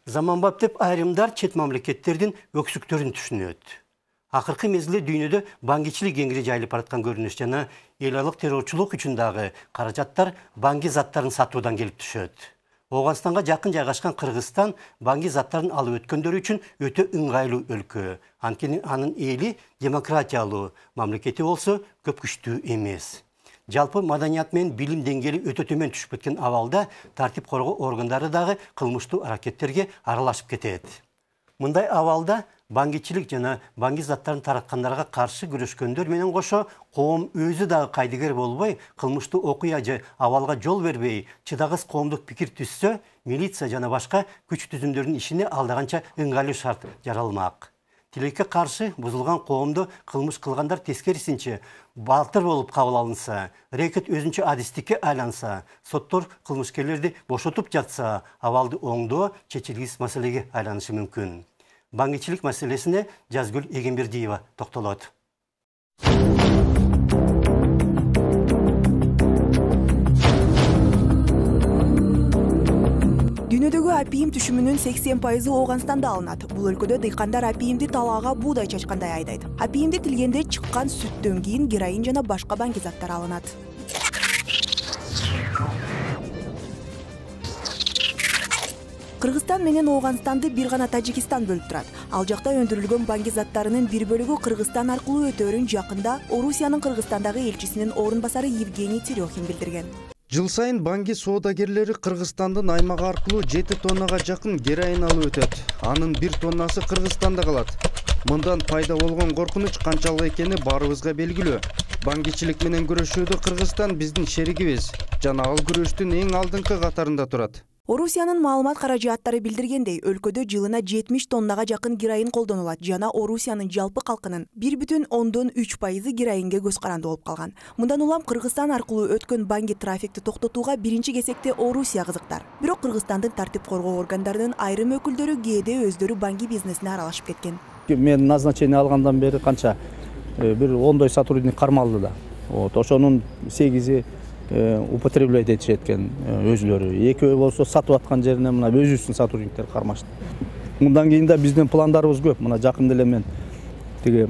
Заманбап деп айрымдар чет мамлекеттердин өксүктөрүн түшүнөт. Акыркы мезгилде дүйнөдө баңгичилик кеңири жайылып бараткан көрүнүш жана эл аралык террорчулук үчүн дагы каражаттар банги заттарын сатуудан келип түшөт. Ооганстанга жакын жайгашкан Кыргызстан банги заттарын алып өткөндөр үчүн өтө ыңгайлуу өлкө. Анткени анын эли демократиялуу, мамлекети болсо көп күчтүү эмес. Жалпы маданият менен билим деңгээли өтө төмөн түшүп кеткен абалда тартип коргоо органдары дагы кылмыштуу аракеттерге аралашып кетет. Мындай абалда баңгичилик жана банги заттарын тараткандарга каршы күрөшкөндөр менен кошо коом өзү дагы кайдыгер болбой, кылмыштуу окуя же абалга жол бербей, чыдагыс коомдук пикир түзсө, милиция жана башка күч түзүмдөрдүн ишине алдаганча ыңгайлуу шарт жаралмак. Тилекке каршы бузулган коомдо кылмыш кылгандар тескерисинче балтыр болуп кабыл алынса, рекет өзүнчө адистикке айланса, соттор кылмышкерлерди бошотуп жатса, абалды оңдоо чечилгис маселеге айланышы мүмкүн. Баңгичилик маселесине Жазгүл Эгембердиева токтолот. Дүйнөдөгү апийим түшүмүнүн 80% Ооганстанда алынат. Бул өлкөдө дыйкандар апийимди талаага буудай чачкандай айдайт. Апийимди тилгенде чыккан сүттөн кийин героин жана башка банги заттар алынат. Кыргызстан менен Ооганстанды бир гана Тажикистан бөлүп турат. Ал жакта өндүрүлгөн банги заттарынын бир бөлүгү Кыргызстан аркылуу өтөөрүн жакында Орусиянын Кыргызстандагы элчисинин орун басары Евгений Терехин билдирген. Жыл сайын банги соодагерлери Кыргызстандын аймагы аркылуу 7 тоннага жакын героин алып өтөт. Анын 1 тоннасы Кыргызстанда калат. Мындан пайда болгон коркунуч канчалык экени баарыбызга белгилүү. Баңгичилик менен күрөшүүдө Кыргызстан биздин шеригибиз жана ал күрөштүн эң алдыңкы катарында турат. Орусиянын маалымат каражаттары билдиргендей, өлкөдө жылына 70 тоннага жакын героин колдонулат жана Орусиянын жалпы калкынын 1,3% героинге көз каранды болуп калган. Мындан улам Кыргызстан аркылуу өткөн банги трафикти токтотууга биринчи кезекте Орусия кызыктар. Бирок Кыргызстандын тартип коргоо органдарынын айрым өкүлдөрү кээде өздөрү банги бизнесине аралашып кеткен. Мен назначение алгандан бери канча бир 10 сотрудник кармалды да. Ошонун 8 употреблять этишет экен өзүлөрү. Экөө болсо сатып аткан жерине мына өзүбүздүн сотрудниктер кармашты. Мындан кийин да биздин пландарыбыз көп. Мына жакында эле мен тиги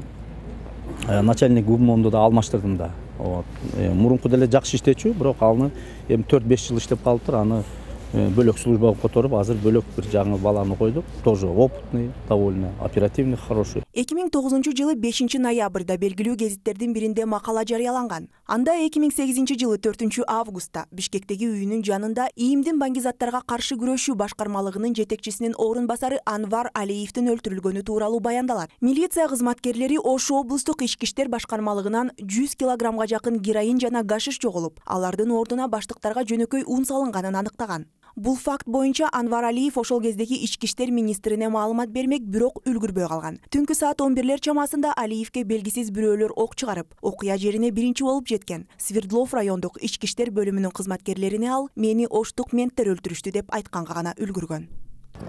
начальник ГУМОНду да алмаштырдым да. Мурунку деле жакшы иштечү, бирок аны эми 4-5 жыл иштеп калыптыр. Аны бөлөк службага которуп, азыр бөлөк бир жаңы баланы койдук. Тоже опытный, довольно оперативный, хороший. 2009-жылы 5 ноябрда белгилүү гезиттердин биринде макала жарыяланган. Анда 2008-жылы 4 августта Бишкектеги үйүнүн жанында ИИМдин банги заттарга каршы күрөшүү башкармалыгынын жетекчисинин орун басары Анвар Алиевдин өлтүрүлгөнү тууралуу баяндалат. Милиция кызматкерлери Ош облустук ички иштер башкармалыгынан 100 килограммга жакын героин жана гашиш жоголуп, алардын ордуна баштыктарга жөнөкөй ун салынганын аныктаган. Бул факт боюнча Анвар Алиев ошол кездеги ички иштер министрине маалымат бермек, бирок үлгүрбөй калган. Түнкү саат 11-лер чамасында Алиевке белгисиз бирөөлөр ок чыгарып, окуя жерине биринчи болуп жеткен. Свердлов райондук ички иштер бөлүмүнүн кызматкерлерине ал мени оштук менттер өлтүрүштү деп айтканга гана үлгүргөн.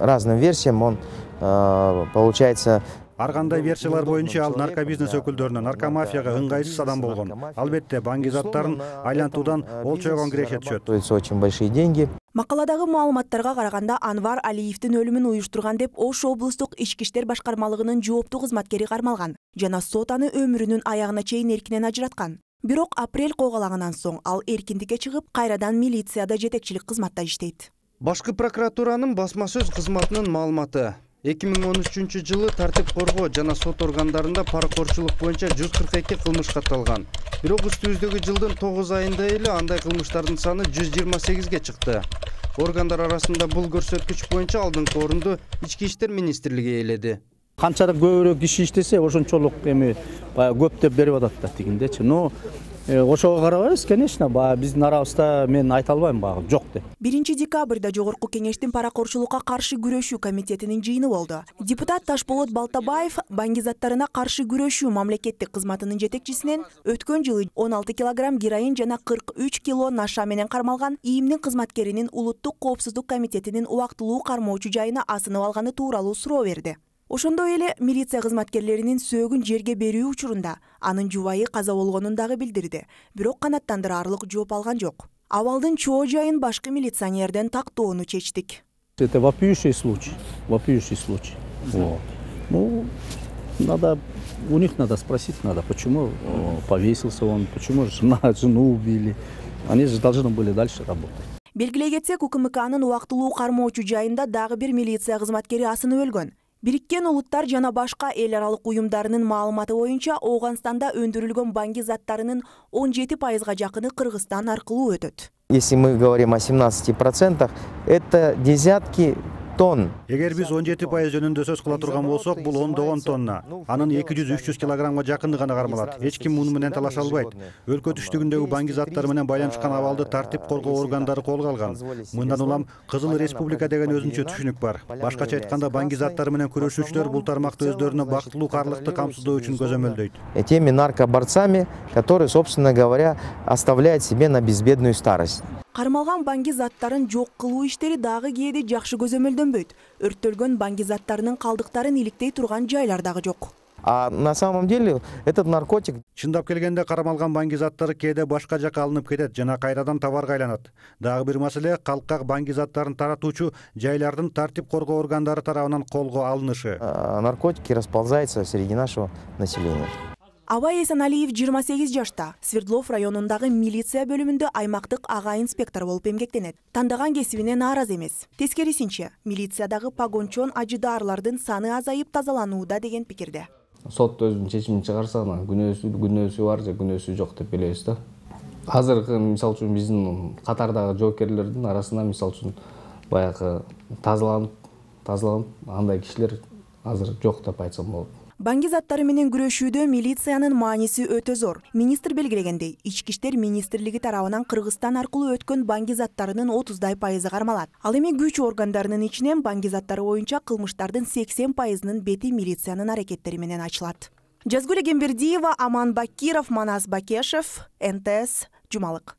Разным версиям он получается. Ар кандай версиялар боюнча ал наркобизнес өкүлдөрүнө, наркомафияга ыңгайсыз адам болгон. Албетте, банги заттарын айлантуудан ол чойгон киреше түшөт. Очень большие деньги. Макаладагы маалыматтарга караганда Анвар Алиевдин өлүмүн уюштурган деп Ош облустук ички иштер башкармалыгынын жооптуу кызматкери кармалган жана сот аны өмүрүнүн аягына чейин эркинен ажыраткан. Бирок апрель койгалагандан соң ал эркиндикке чыгып, кайрадан милицияда жетекчилик кызматта иштейт. Башкы прокуратуранын басма сөз кызматынын маалыматы. 2013 жылы тартип коргоо жана сот органдарында паракорчулук боюнча 142 кылмыш катталган. Бирок үстүбүздөгү жылдын 9 айында эле андай кылмыштардын саны 128ге чыкты. Органдар арасында бул көрсөткүч боюнча алдыңкы орунду Ички иштер министрлиги ээледи. Канчалык көбүрөөк киши иштесе, ошончолук эми көп деп берип атат да тигиндечи. Но ошого карабайбыз, конечно, биздин арабызда мен айта албайм жок деп. 1 декабрда Жогорку кеңештин паракорчулукка каршы күрөшүү комитетинин жыйыны болду. Депутат Ташболот Балтабаев банги заттарына каршы күрөшүү мамлекеттик кызматынын жетекчисинен өткөн жылы 16 килограмм героин жана 43 кило наша менен кармалган ИИМдин кызматкеринин Улуттук коопсуздук комитетинин убактылуу кармоочу жайына асынып алганы тууралуу суроо берди. Ошондой эле милиция кызматкерлеринин сөөгүн жерге берүү учурунда анын жубайы каза болгонун дагы билдирди. Бирок канаттандыраарлык жооп алган жок. Абалдын чоо жайын башкы милиционерден тактоону чечтик. Это вопиющий случай. Вопиющий случай. Вот. Ну, у них надо спросить, почему повесился он, почему жену убили. Они же должны были дальше работать. Белгилей кетсек, УКМКнын убактылуу кармоочу жайында дагы бир милиция кызматкери асынып өлгөн. Бириккен Улуттар жана башка эл аралык уюмдарынын маалыматы боюнча, Ооганстанда өндүрүлгөн банги заттарынын 17%га жакыны Кыргызстан аркылуу өтөт. Если мы говорим о 17%, это десятки тонн. Эгер биз 17% жөнүндө сөз кыла турган болсок, бул ондогон тонна. Анын 200-300 килограммга жакыны гана кармалат. Эч ким муну менен талаша албайт. Өлкө түштүгүндөгү банги заттары менен байланышкан абалды тартип коргоо органдары колго алган. Мындан улам Кызыл Республика деген өзүнчө түшүнүк бар. Башкача айтканда, банги заттары менен күрөшүүчүлөр бул тармакты өздөрүнө бактылуу карлыкты камсыздоо үчүн көзөмөлдөйт. Теми наркоборцами, которые, собственно говоря, оставляют себе на безбедную старость. Кармалган банги заттарын жок кылуу иштери дагы кээде жакшы көзөмөлдөнбөйт. Өрттөлгөн банги заттарынын калдыктарын иликтей турган жайлар дагы жок. А на самом деле этот наркотик... Чындап келгенде кармалган банги заттары кээде башка жака алынып кетет жана кайрадан товарга айланат. Дагы бир маселе — калкка банги заттарын таратуучу жайлардын тартип коргоо органдары тарабынан колго алынышы. Наркотики расползаются среди нашего населения. Абай Эсеналиев 28 жашта, Свердлов районундагы милиция бөлүмүндө аймактык ага инспектор болуп эмгектенет. Тандаган кесибине нааразы эмес. Тескерисинче, милициядагы погончон ажыдаарлардын саны азайып тазаланууда деген пикирде. Сот өзүнүн чечимин чыгарса, күнөөсү бар же күнөөсү жок деп билебиз да. Азыркы мисалы үчүн биздин катардагы жоокерлердин арасында мисалы үчүн баягы тазаланып андай кишилер азыр жок деп айтсам болот. Банги заттары менен күрөшүүдө милициянын мааниси өтө зор. Министр белгилегендей, Ички иштер министрлиги тарабынан Кыргызстан аркылуу өткөн банги заттарынын 30% кармалат. Ал эми күч органдарынын ичинен банги заттары боюнча кылмыштардын 80%-нын бети милициянын аракеттери менен ачылат. Жазгүл Эгембердиева, Аман Бакиров, Манас Бакешев, НТС, Жумалык.